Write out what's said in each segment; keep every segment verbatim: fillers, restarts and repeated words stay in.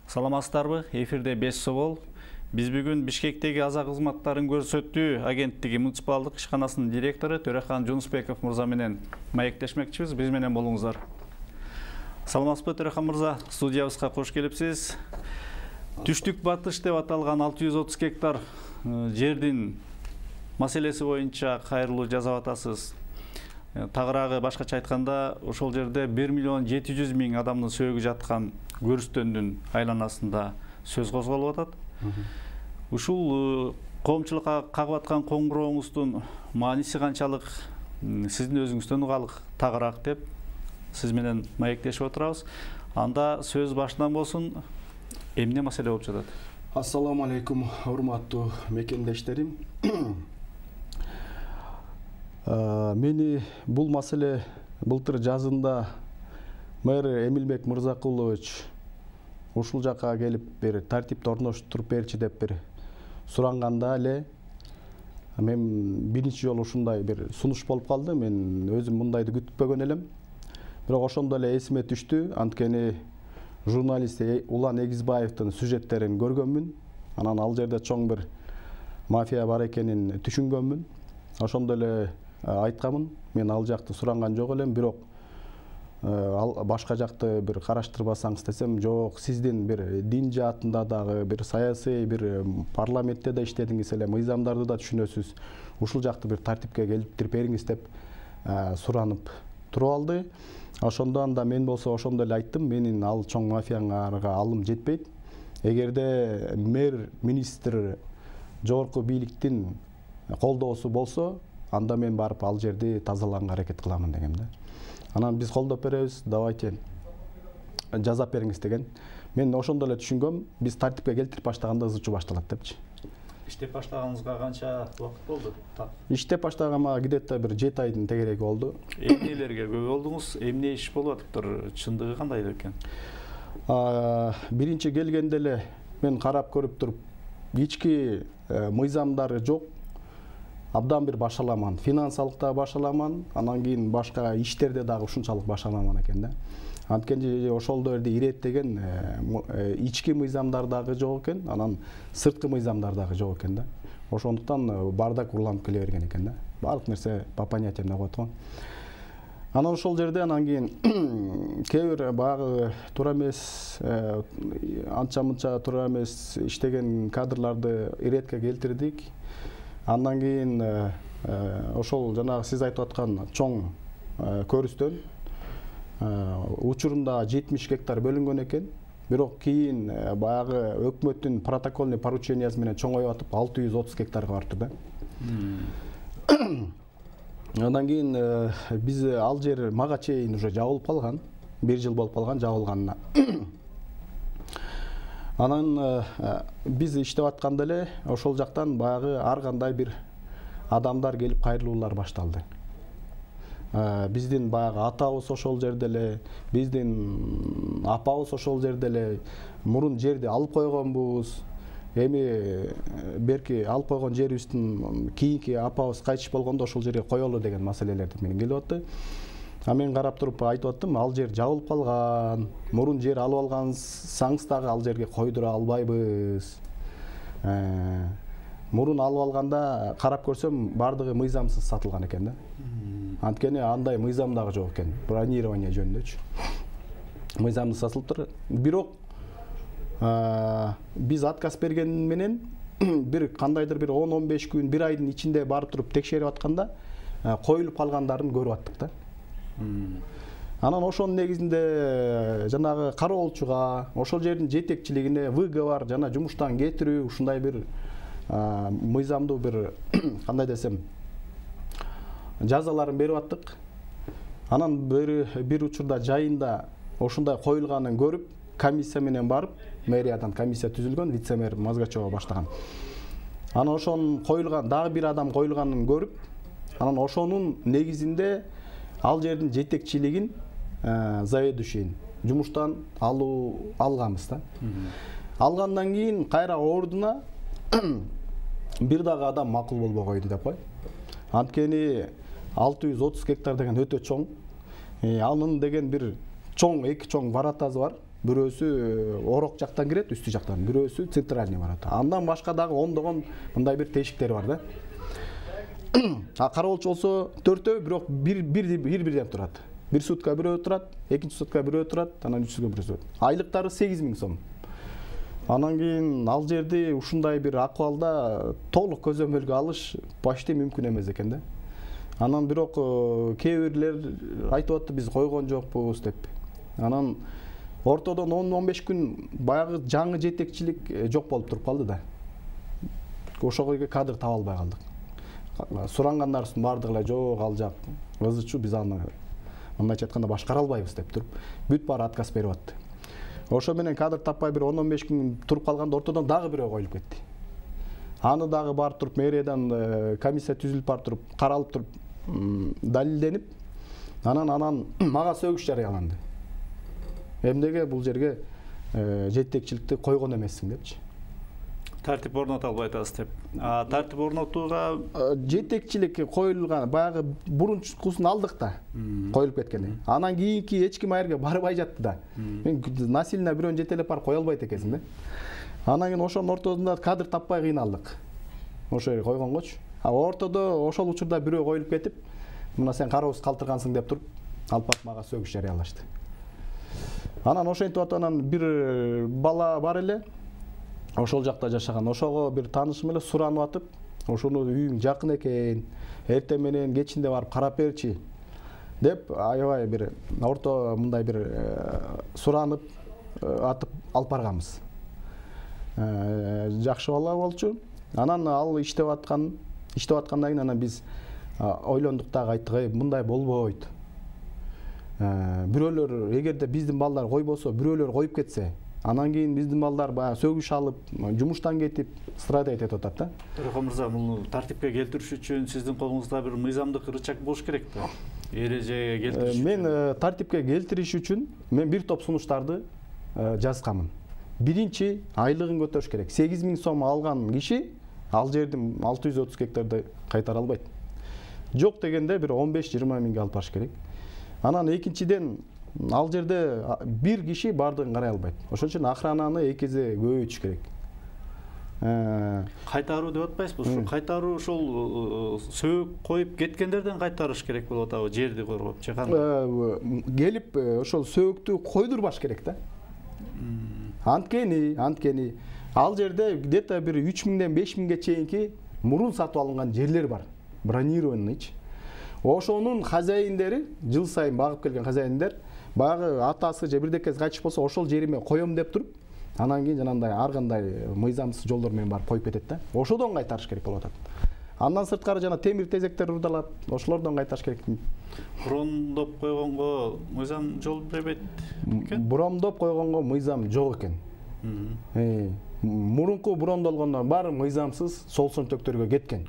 Саламатсыздарбы? Эфирде беш собол. Биз бүгүн Бишкектеги аза кызматтарын көрсөтүү агенттиги муниципалдык ишканасынын директору Төрехан Жунусбеков мырза менен маектешмекчибиз. Биз менен болуңуздар. Саламатсызбы, Төрехан мырза? Студиябызга кош келипсиз. Түштүк батыш деп аталган алты жүз отуз гектар жердин маселеси боюнча кайрылуу жасап атасыз. Тагыраагы башкача айтканда, ошол жерде бир миллион жети жүз миң адамдын сөөгү жаткан көрүстөндүн айланасында сөз козголуп атат. Ушул коомчулукка кагып аткан коңгурооңуздун мааниси канчалык, сиздин өзүңүздөн угалык тагыраак деп сиз менен маектешип отурабыз. Анда сөз башынан болсун, эмне маселе болуп жатат? Ассаламу алейкум, урматтуу мекендештерим. Мени бул маселе былтыр жазында мэр Эмилбек Мырзакулович ушул жака келип бир тартипти орноштуруп берчи деп бир суранганда эле мен биринчи жолу ушундай бир сунуш болуп калды. Мен өзүм мындайды күтпөгөн элем. Бирок ошондо эле эсиме түштү. Анткени журналист Улан Эгизбаевдин сюжеттерин көргөнмүн. Анан ал жерде чоң бир мафия бар экенин түшүнгөнмүн. Ошондо эле айткамын. Мен ал жакты суранган жок элем, бирок ал башка жакты бир караштырбасаңыз десем, жок, сиздин бир дин жаатында дагы, бир саясий, бир парламентте да иштедиңиз эле, мыйзамдарды да түшүнөсүз. Ушул жакты бир тартипке келиптирип бериңиз деп суранып туруп алды. Ошондон да мен болсо ошондо эле айттым, менин ал чоң мафияңарга алым жетпейт. Эгерде мэр, министр, жогорку бийликтин колдоосу болсо, анда мен барып ал жерди тазалаганга аракет кыламын дегем да. Анан биз колдоп беребиз, давайте жазап бериңиз деген. Мен ошондо эле түшүнгөм, биз тартипке келтирип баштаганда ызы чуу башталат депчи. Иштеп баштаганыңызга канча убакыт болду? Иштеп баштаганыма где-то бир жети айдын тегереги болду. Эмнелерге көп болдуңуз? Эмне иш болуп атыптыр? Чындыгы кандай экен? Биринчи келгенде эле мен карап көрүп туруп, ички мыйзамдары жок. Абдан бир башаламан, финансалыкта башаламан, анан кийин башка иштерде дагы ушунчалык башаламан экен да. Анткени ошолдо жерде иреттеген ички мыйзамдар дагы жок экен, анан сырткы мыйзамдар дагы жок экен да. Ошондуктан бардак урланып келе берген экен да. Бардык нерсе по понятиям деп коет го. Анан ошол жерде анан кийин кээ бир баягы туура эмес, анча-мынча туура эмес иштеген кадрларды иретке келтирдик. Андан кийин ошол жанагы сиз айтып аткан чоң көрүстөн учурунда жетимиш гектар бөлүнгөн экен. Бирок кийин баягы өкмөттүн протокольный поручениясы менен чоңоюп атып алты жүз отуз гектарга барыптыр да. Андан кийин биз ал жер мага чейин уже жабылып калган. бир жыл болуп калган жабылганына. Анан биз иштеп атканда эле ошол жактан баягы ар кандай бир адамдар келип кайрылуулар башталды. Биздин баягы атабыз ошол жерде эле, биздин апабыз ошол жерде эле, мурун жерди алып койгонбуз. Эми берки алып койгон жерибиздин кийинки апабыз кайтыш болгондо ошол жерге коелу деген маселелер менен келип атты. А мен карап туруп айтып аттым, ал жер жабылып калган. Мурун жер алып алгансаңыз дагы ал жерге койдура албайбыз. Мурун алып алганда карап көрсөм бардыгы мыйзамсыз сатылган экен да. Анткени андай мыйзам дагы жок экен. Бронирование жөнүндөчү. Мыйзамсыз сатылыптыр. Бирок биз отказ берген менен бир кандайдыр бир он он беш күн, бир айдын ичинде барып туруп текшерип атканда коюлуп калгандарын көрүп аттык да. Анан ошонун негизинде жанагы кароолчуга, ошол жердин жетекчилигине выговор жана жумуштан кетирүү, ушундай бир мыйзамдуу бир кандай десем жазаларын берип аттык. Анан бир бир учурда жайында ошундай коюлганын көрүп, комиссия менен барып, мэриядан комиссия түзүлгөн, вице-мэр Мазгачева баштаган. Анан ошонун коюлган, дагы бир адам коюлганын көрүп, анан ошонун негизинде ал жердин жетекчилигин заведующийин жумуштан алуу алганбыз да. Алгандан кийин кайра ордуна бир дагы адам макул болбой койду деп кой. Анткени алты жүз отуз гектар деген өтө чоң. Анын деген бир чоң, эки чоң воротасы бар. бирөөсү орок жактан кирет, үстү жактан, бирөөсү центральный барат. Андан башка дагы ондогон мындай бир тешиктер бар да. А кароолчу болсо төртөө, бирок бир бир бирден турат. Бир сутка бирөө турат, экинчи сутка бирөө турат, анан үчүнчү бирөө турат. Айлыктары сегиз миң сом. Анан кийин ал жерди ушундай бир акыбалда толук көзөмөлгө алыш почти мүмкүн эмес экен да. Анан бирок кээ бирлер айтып атты, биз койгон жокпуз деп. Анан ортодон он он беш күн баягы жаңы жетекчилик жок болуп туруп калды да. Ошого кадр таба албай калдык. Сурангандарыбыздын бардыгы эле жок, ал жак ызычу, биз аны мындайча айтканда башкара албайбыз деп туруп, бүт баары отказ берип атты. Ошо менен кадр таппай бир он он беш күн туруп калганда ортодон дагы бирөө коюлуп кетти. Аны дагы барып туруп мэриядан комиссия түзүлүп барып туруп, каралып туруп, далилденип, анан анан мага сөгүш жарыяланды. Эмнеге бул жерге жетекчиликти койгон эмессиң депчи. Тартип орното албай атасыз деп. А тартип орнотууга жетекчилик коюлган, баягы бурунчусун алдык да, коюлуп кеткени. Анан кийинки эч ким айерге барбай жатты да. Мен насильно бирөөнү жетелеп барып кое албайт экенсиң да. Анан кийин ошонун ортосунда кадр таппай кыйналдык. Ошо жерге койгонгочу. А ортодо ошол учурда бирөө коюлуп кетип, мына сен кароосуз калтыргансың деп туруп, алып барып мага сөгүш жарыялашты. Анан ошентип атып анан бир бала бар эле, ошол жакта жашаган. Ошого бир таанышым эле суранып атып, ошону үйүң жакын экен, эртең менен кечинде барып карап берчи деп, аябай бир орто мындай бир суранып атып алып барганбыз. Жакшы бала болчу. Анан ал иштеп аткан, иштеп аткандан кийин анан биз ойлондук дагы, айттык, мындай болбойт. Бирөөлөр эгерде биздин балдар койбосо, бирөөлөр коюп кетсе, анан кийин биздин балдар баягы сөгүш алып, жумуштан кетип, страдать этип атат да. Төрехан мырза, муну тартипке келтириш үчүн сиздин колуңузда бир мыйзамдык рычаг болуш керек да. Эрежеге келтириш үчүн. Мен тартипке келтириш үчүн мен бир топ сунуштарды жазганмын. Биринчи, айлыгын көтөрүш керек. сегиз миң сом алган киши ал жердин алты жүз отуз гектарды кайтара албайт. Жок дегенде бир он беш жыйырма миңге алып барыш керек. Анан экинчиден, ал жерде бир киши бардыгын карай албайт. Ошон үчүн охрананы эки эсе көбөйтүш керек. Кайтаруу деп атпайсызбы? Ушу кайтаруу ошол сөөк коюп кеткендерден кайтарыш керек болуп атабы, жерди коргоп, же кандай? Келип ошол сөөктү койдурбаш керек да. Анткени, анткени ал жерде где-то бир үч миңден беш миңге чейинки мурун сатып алынган жерлер бар. Бронированныйчы. Ошонун хозяиндери, жыл сайын багып келген хозяиндер, баягы атасы же бирдекеси кайтыш болсо, ошол жериме коем деп туруп, анан кийин жанагындай ар кандай мыйзамсыз жолдор менен барып коюп кетет да. Ошодон кайтарыш керек болуп атат. Андан сырткары жана темир тезектер урдалат, ошолордон кайтарыш керек. Брондоп койгонго мыйзам жол бербейт экен? Брондоп койгонго мыйзам жок экен. Мурунку брондолгондор баары мыйзамсыз сол сөнтөктөргө кеткен.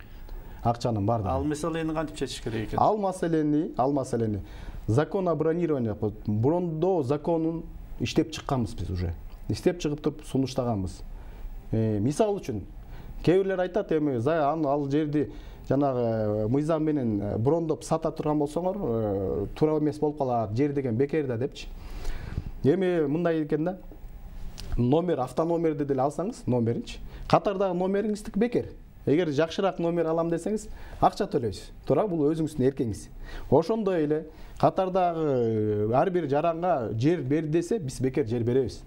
Акчанын бардыгы. Ал маселени кантип чечиш керек экен? Ал маселени, ал маселени закон о бронировании, брондоо законун иштеп чыкканбыз биз уже. Иштеп чыгып туруп сунуштаганбыз. Мисал үчүн, кээ бирлер айтат, эми ал жерди жанагы мыйзам менен брондоп сата турган болсоңор, туура эмес болуп калат, жер деген бекер да депчи. Эми мындай экен да. Номер, автономерди деле алсаңыз, номеринчи, катардагы номериңиздики бекер. Эгер жакшыраак номер алам десеңиз, акча төлөйсүз. Туура, бул өзүңүздүн эркиңиз. Ошондой эле катардагы ар бир жаранга жер бер десе, биз бекер жер беребиз.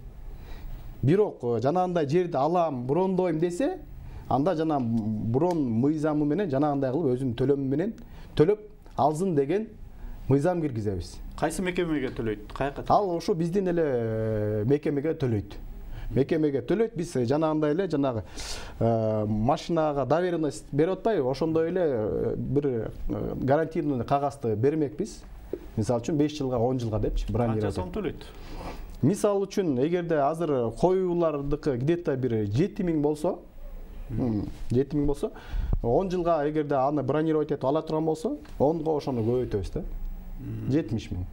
Бирок жанагындай жерди алам, брондойм десе, анда жана брон мыйзамы менен жанагындай кылып өзүнүн төлөмү менен төлөп алсын деген мыйзам киргизебиз. Кайсы мекемеге төлөйт? Каяка? Ал ошо биздин эле мекемеге төлөйт. Мекемеге төлөйт, биз жанагындай эле жанагы машинага доверенность берип атпайбы, ошондой эле бир гарантийный кагазды бермекпиз. Мисалы үчүн беш жылга, он жылга депчи, бронировать. Канча сом төлөйт? Мисалы үчүн, эгерде азыр коюулардыкы где-то бир жети миң болсо, жети миң болсо, он жылга эгерде аны бронировать этип ала турган болсо, онго ошону көбөйтөбүз да. жетимиш миң.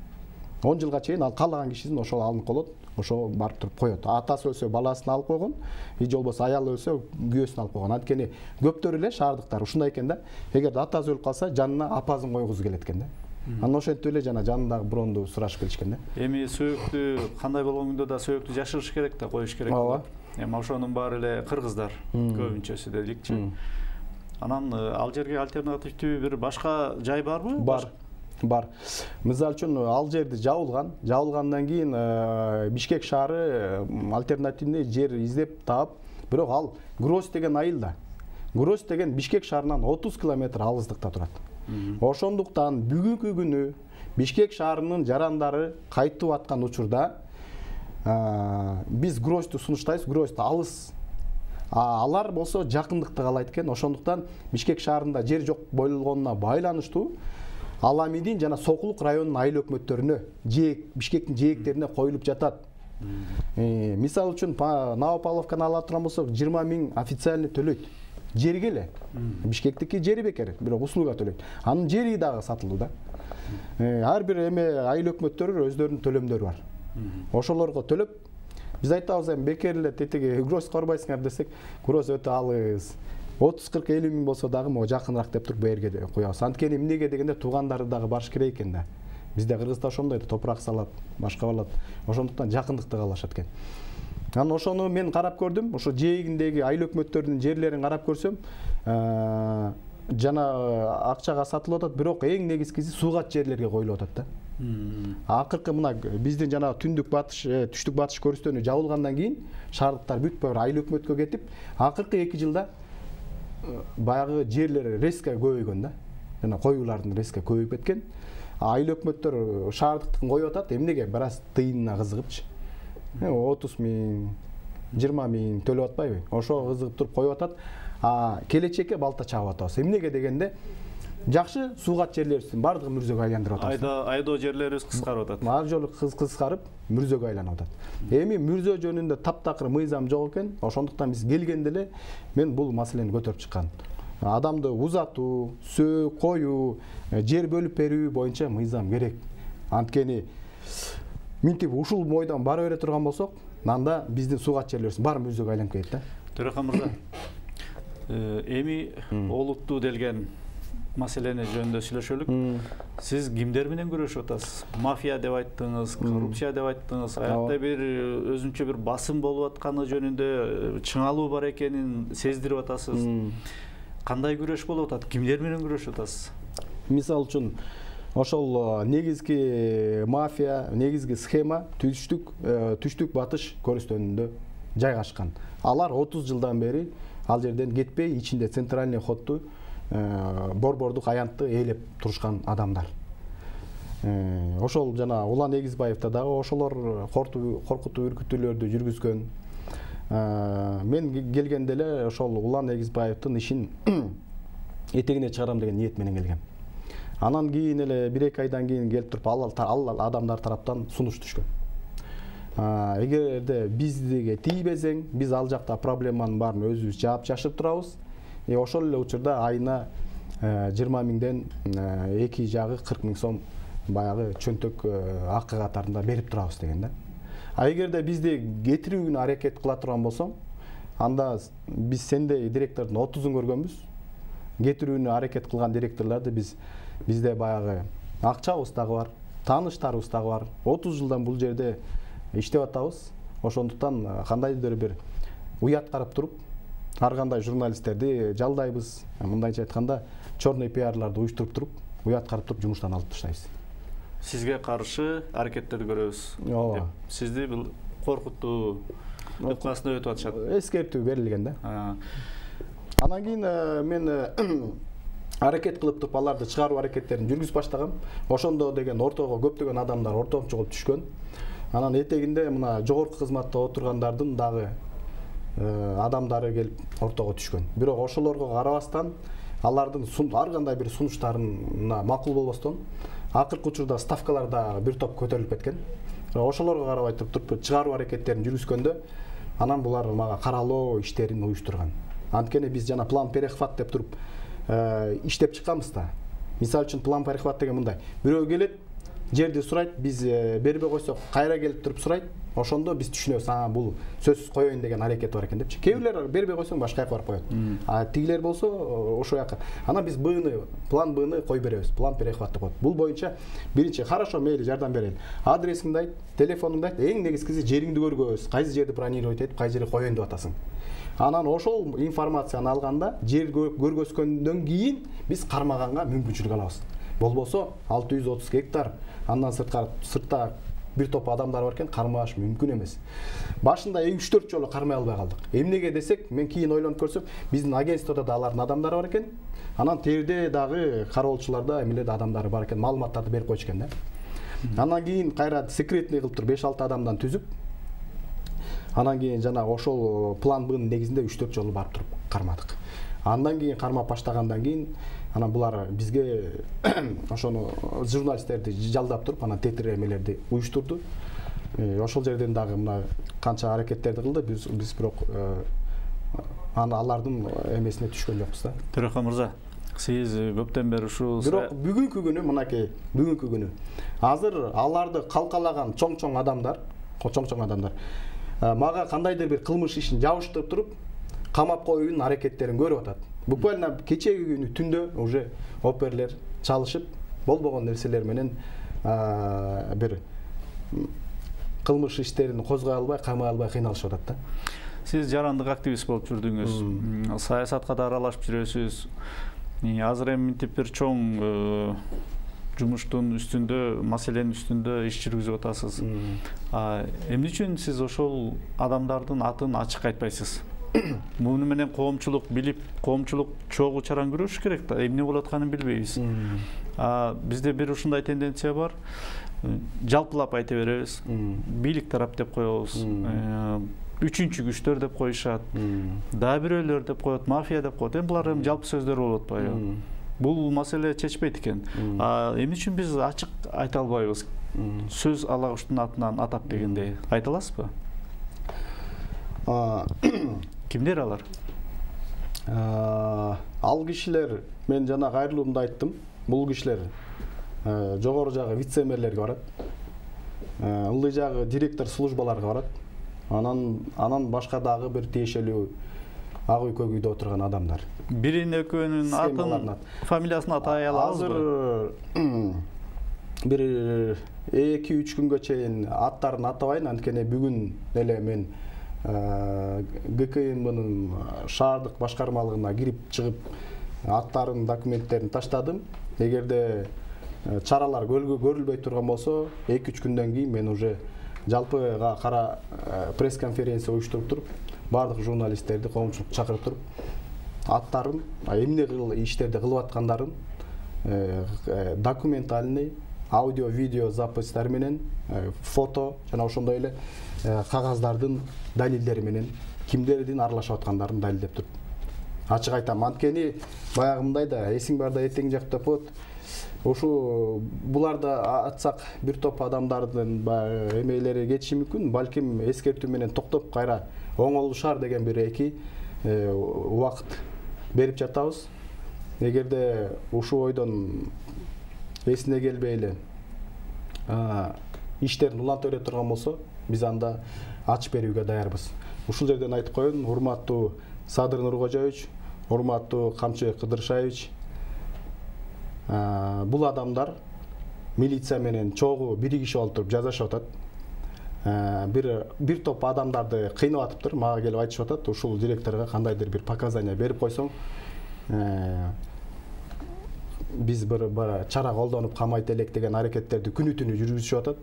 он жылга чейин ал каалаган кишисин ошол алынып калат, ошо барып туруп коет. Атасы өлсө баласын алып койгон, же болбосо аялы өлсө күйөөсүн алып койгон. Анткени көптөр эле шаардыктар ушундай экен да. Эгерде атасы өлүп калса, жанына апасын койгузу келет экен да. Анан ошентип эле жана жанындагы бронду сурашып келишкен да. Эми сөөктү кандай болгондо да сөөктү жашырыш керек да, коюш керек. Ооба. Эми ошонун баары эле кыргыздар көбүнчөсү деликчи. Анан ал жерге альтернативдүү бир башка жай барбы? Бар. Бар. Мисалы үчүн ал жерди жабылган. Жабылгандан кийин Бишкек шаары альтернативный жер издеп таап, бирок ал Грозь деген айылда. Грозь деген Бишкек шаарынан отуз километр алыстыкта турат. Ошондуктан бүгүнкү күнү Бишкек шаарынын жарандары кайтып аткан учурда биз Грозьту сунуштайбыз, Грозьту алыс. Алар болсо жакындыкты каалайт экен. Ошондуктан Бишкек шаарында жер жок болгонуна байланыштуу Аламидин жана Сокулук районунун айыл өкмөттөрүнө, жээк Бишкектин жээктерине коюлуп жатат. Мисалы үчүн Новополовканы ала турган болсок, жыйырма миң официальный төлөйт. Жерге эле. Бишкектики жери бекер, бирок услуга төлөйт. Анын жери дагы сатылуу да. Ар бир эме айыл өкмөттөрү өздөрүнүн төлөмдөрү бар. Ошолорго төлөп, биз айтабыз эми бекер эле тетиги Грозь корбайсыңар десек, Грозь өтө алыс. отуз кырк элүү миң болсо дагы могу жакыныраак деп туруп берге коебуз. Анткени эмнеге дегенде туугандары дагы барыш керек экен да. Бизде Кыргызда ошондой топурак салат, башка болот. Ошондуктан жакындыкты каалашат экен. Анан ошону мен карап көрдүм. Ошо жээгиндеги айыл өкмөттөрүнүн жерлерин карап көрсөм, жана акчага сатылып атат, бирок эң негизгиси суугат жерлерге коюлуп атат да. Акыркы мына биздин жана түндүк батыш, түштүк батыш көрүстөнү жабылгандан кийин шаардыктар бүт бир айыл өкмөткө кетип, акыркы эки жылда баягы жерлер резко көбөйгөн да. Жана коюулардын резко көбөйүп кеткен. Айыл өкмөттөр шаардыктын коюп атат, эмнеге? Бир аз тыйынына кызыгыпчы. отуз миң, жыйырма миң төлөп атпайбы? Ошо кызыгып туруп коюп атат. А келечекке балта чабып атабыз. Эмнеге дегенде, жакшы суугат жерлерибиздин бардыгын мүрзөгө айландырып атабыз. Айда айдоо жерлерибиз кыскарып атат. Ар жолу кыскарып, мүрзөгө айланып атат. Эми мүрзө жөнүндө таптакыр мыйзам жок экен. Ошондуктан биз келгенде эле мен бул маселени көтөрүп чыккан. Адамды узатуу, сөө, коюу, жер бөлүп берүү боюнча мыйзам керек. Анткени минтип ушул бойдон бара бере турган болсок, анда биздин суугат жерлерибиз бар мүрзөгө айланып кетет да. Төрахан мырза, эми олуттуу делген маселени жөнүндө сүйлөшөлүк. Сиз кимдер менен күрөшүп атасыз? Мафия деп айттыңыз, коррупция деп айттыңыз. Аякта бир өзүнчө бир басым болуп атканы жөнүндө чыңалуу бар экенин сездирип атасыз. Кандай күрөш болуп атат? Кимдер менен күрөшүп атасыз? Мисалы үчүн ошол негизги мафия, негизги схема түштүк түштүк батыш көрүстөнүндө жайгашкан. Алар отуз жылдан бери ал жерден кетпей, ичинде центральный ходту борбордук аянтты ээлеп турушкан адамдар. Ошол жана Улан Эгизбаевда дагы ошолор коркутуу үркүтүүлөрдү жүргүзгөн. Мен келгенде эле ошол Улан Эгизбаевдин ишин этегине чыгарам деген ниет менен келгем. Анан кийин эле бир эки айдан кийин келип туруп ал адамдар тараптан сунуш түшкөн. Эгерде биздиге тийбесең, биз ал жакта проблеманын баарын өзүбүз жаап чашып турабыз. И ошол эле учурда айына жыйырма миңден эки жагы кырк миң сом баягы чөнтөк акы катарында берип турабыз деген да. А эгерде бизди кетирүүгө аракет кыла турган болсоң, анда биз сендей директордун отузун көргөнбүз. Кетирүүнү аракет кылган директорлорду биз бизде баягы акчабыз дагы бар, тааныштарыбыз дагы бар. отуз жылдан бул жерде иштеп атабыз. Ошондуктан кандайдыр бир уят карап туруп, ар кандай журналисттерди жалдайбыз. Мындайча айтканда, черный пиарларды уюштуруп туруп, уят карап туруп жумуштан алып таштайбыз. Сизге каршы аракеттерди көрөбүз. Ооба. Сизди бул коркутуу өкмасына өтүп атышат. Эскертүү берилген да. Анан кийин мен аракет кылып туруп аларды чыгаруу аракеттерин жүргүзүп баштагам. Ошондо деген ортого көптөгөн адамдар ортомчу болуп түшкөн. Анан этегинде мына жогорку кызматта отургандардын дагы адамдары келип ортого түшкөн. Бирок ошолорго карабастан, алардын ар кандай бир сунуштарына макул болбостон, акыркы учурда ставкалар да бир топ көтөрүлүп кеткен. Ошолорго карабай туруп чыгаруу аракеттерин жүргүзгөндө, анан булар мага каралоо иштерин уюштурган. Анткени биз жана план перехват деп туруп иштеп чыкканбыз да. Мисалы үчүн план перехват деген мындай: бирөө келет, жерди сурайт, биз бербей койсок кайра келип туруп сурайт, ошондо биз түшүнөбүз, а бул сөзсүз коеюн деген аракет бар экен депчи. Кээ бирлер бербей койсоң башка жака барып коет. А тигилер болсо ошол жака. Анан биз Б-ны, план Б-ны кой беребиз. План перехват деп коет. Бул боюнча биринчи хорошо мейли жардам берели. Адресиңди айт, телефонуңду айт, эң негизгиси жериңди көргөз, кайсы жерди бронировать этип, кайсы жерге коеюн деп атасың. Анан ошол информацияны алганда, жер көргөзгөндөн кийин биз кармаганга мүмкүнчүлүк алабыз. Болбосо алты жүз отуз гектар, андан сырткары сыртта бир топ адамдар бар экен, кармаш мүмкүн эмес. Башында үч төрт жолу кармай албай калдык. Эмнеге десек, мен кийин ойлонуп көрсөм, биздин агентстводо да алардын адамдары бар экен. Анан терде дагы кароолчуларда эмелерде адамдары бар экен, маалыматтарды берип койчу экен да. Анан кийин кайра секретный кылып туруп беш алты адамдан түзүп, анан кийин жана ошол план Б'нын негизинде үч төрт жолу барып туруп кармадык. Андан кийин кармап баштагандан кийин анан булар бизге ошону журналисттерди жалдап туруп, анан тетир эмелерди уюштурду. Ошол жерден дагы мына канча аракеттерди кылды, биз биз бирок аны алардын эмесине түшкөн жокпуз да. Төрахан мырза, сиз көптөн бери ушул бирок бүгүнкү күнү мынакей, бүгүнкү күнү азыр аларды калкалаган чоң-чоң адамдар, чоң-чоң адамдар мага кандайдыр бир кылмыш ишин жабыштырып туруп, камап коюунун аракеттерин көрүп атат. Буквально кечеги күнү түндө уже оперлер чалышып, болбогон нерселер менен бир кылмыш иштерин козгой албай, камай албай кыйналышып атат да. Сиз жарандык активист болуп жүрдүңүз, саясатка да аралашып жүрөсүз. Азыр эми мынтип бир чоң жумуштун үстүндө, маселенин үстүндө иш жүргүзүп атасыз. Эмне үчүн сиз ошол адамдардын атын ачык айтпайсыз? Муну менен коомчулук билип, коомчулук чогуу чаран көрүш керек да, эмне болуп атканын билбейбиз. Бизде бир ушундай тенденция бар. Жалпылап айта беребиз. Бийлик тарап деп коебуз. Үчүнчү күчтөр деп коюшат. Дагы бирөөлөр деп коет, мафия деп коет. Эми булар эми жалпы сөздөр болуп атпайбы? Бул маселе чечпейт экен. Эмне үчүн биз ачык айта албайбыз? Сөз алагучтун атынан атап дегендей. Айта аласызбы? Кимдер алар? Ал кишилер, мен жана кайрылуумда айттым, бул кишилер жогору жагы вице-мэрлерге барат. Ылдый жагы директор службаларга барат. Анан анан башка дагы бир тиешелүү ак үй көк үйдө отурган адамдар. Бирин экөөнүн атын, фамилиясын атай алабызбы? Азыр бир эки үч күнгө чейин аттарын атабайын, анткени бүгүн эле мен Г К М Б'нын шаардык башкармалыгына кирип чыгып аттарын, документтерин таштадым. Эгерде чаралар көрүлбөй турган болсо, эки үч күндөн кийин мен уже жалпыга кара пресс-конференция уюштуруп туруп, бардык журналисттерди, коомчулукты чакырып туруп, аттарын, эмне иштерди кылып аткандарын документальный, аудио, видео запистер менен, фото жана ошондой эле кагаздардын далилдери менен кимдердин аралашып аткандарын далилдеп туруп. Ачык айтам, анткени баягымдай да эсиң барда этең жак деп коет. Ошу буларды атсак бир топ адамдардын эмелери кетиши мүмкүн, балким эскертүү менен токтоп кайра оңолушар деген бир эки убакыт берип жатабыз. Эгерде ушул ойдон эсине келбей эле иштерин уланта турган болсо, биз анда ачып берүүгө даярбыз. Ушул жерден айтып коеюн, урматтуу Садыр Нуркожоевич, урматтуу Камчы Кыдыршаевич, бул адамдар милиция менен чогуу биригишип олтуруп жазашып атат. Бир бир топ адамдарды кыйнап атыптыр, мага келип айтышып атат, ушул директорго кандайдыр бир показания берип койсоң, биз бир чара колдонуп камайт элек деген аракеттерди күнү түнү жүргүзүшүп атат.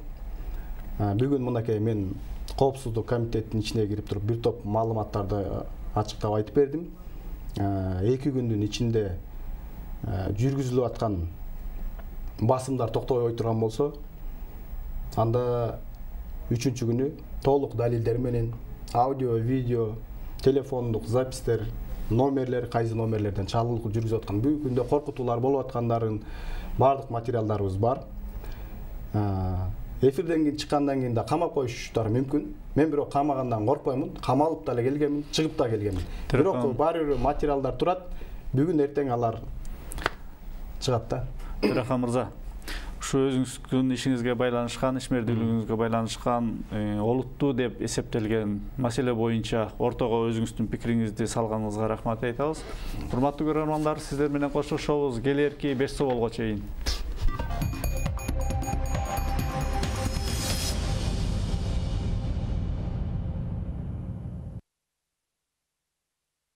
Бүгүн мынакей мен коопсуздук комитетинин ичине кирип туруп бир топ маалыматтарды ачыктап айтып бердим. эки күндүн ичинде жүргүзүлүп аткан басымдар токтобой турган болсо, анда үчүнчү күнү толук далилдер менен аудио, видео, телефондук запистер, номерлер, кайсы номерлерден чалуу жүргүзүп аткан, бүгүнкү күндө коркутуулар болуп аткандарын бардык материалдарыбыз бар. Эфирден кийин чыккандан кийин да камап коюшуштары мүмкүн. Мен бирок камагандан коркпоймун, камалып да келгенмин, чыгып да келгенмин. Бирок баары бир материалдар турат. Бүгүн эртең алар чыгат да. Төрахан мырза, ушу өзүңүздүн ишиңизге байланышкан, ишмердүүлүгүңүзгө байланышкан олуттуу деп эсептелген маселе боюнча ортого өзүңүздүн пикириңизди салганыңызга рахмат айтабыз. Урматтуу көрөрмандар, сиздер менен коштошобуз келэрки беш соболго чейин.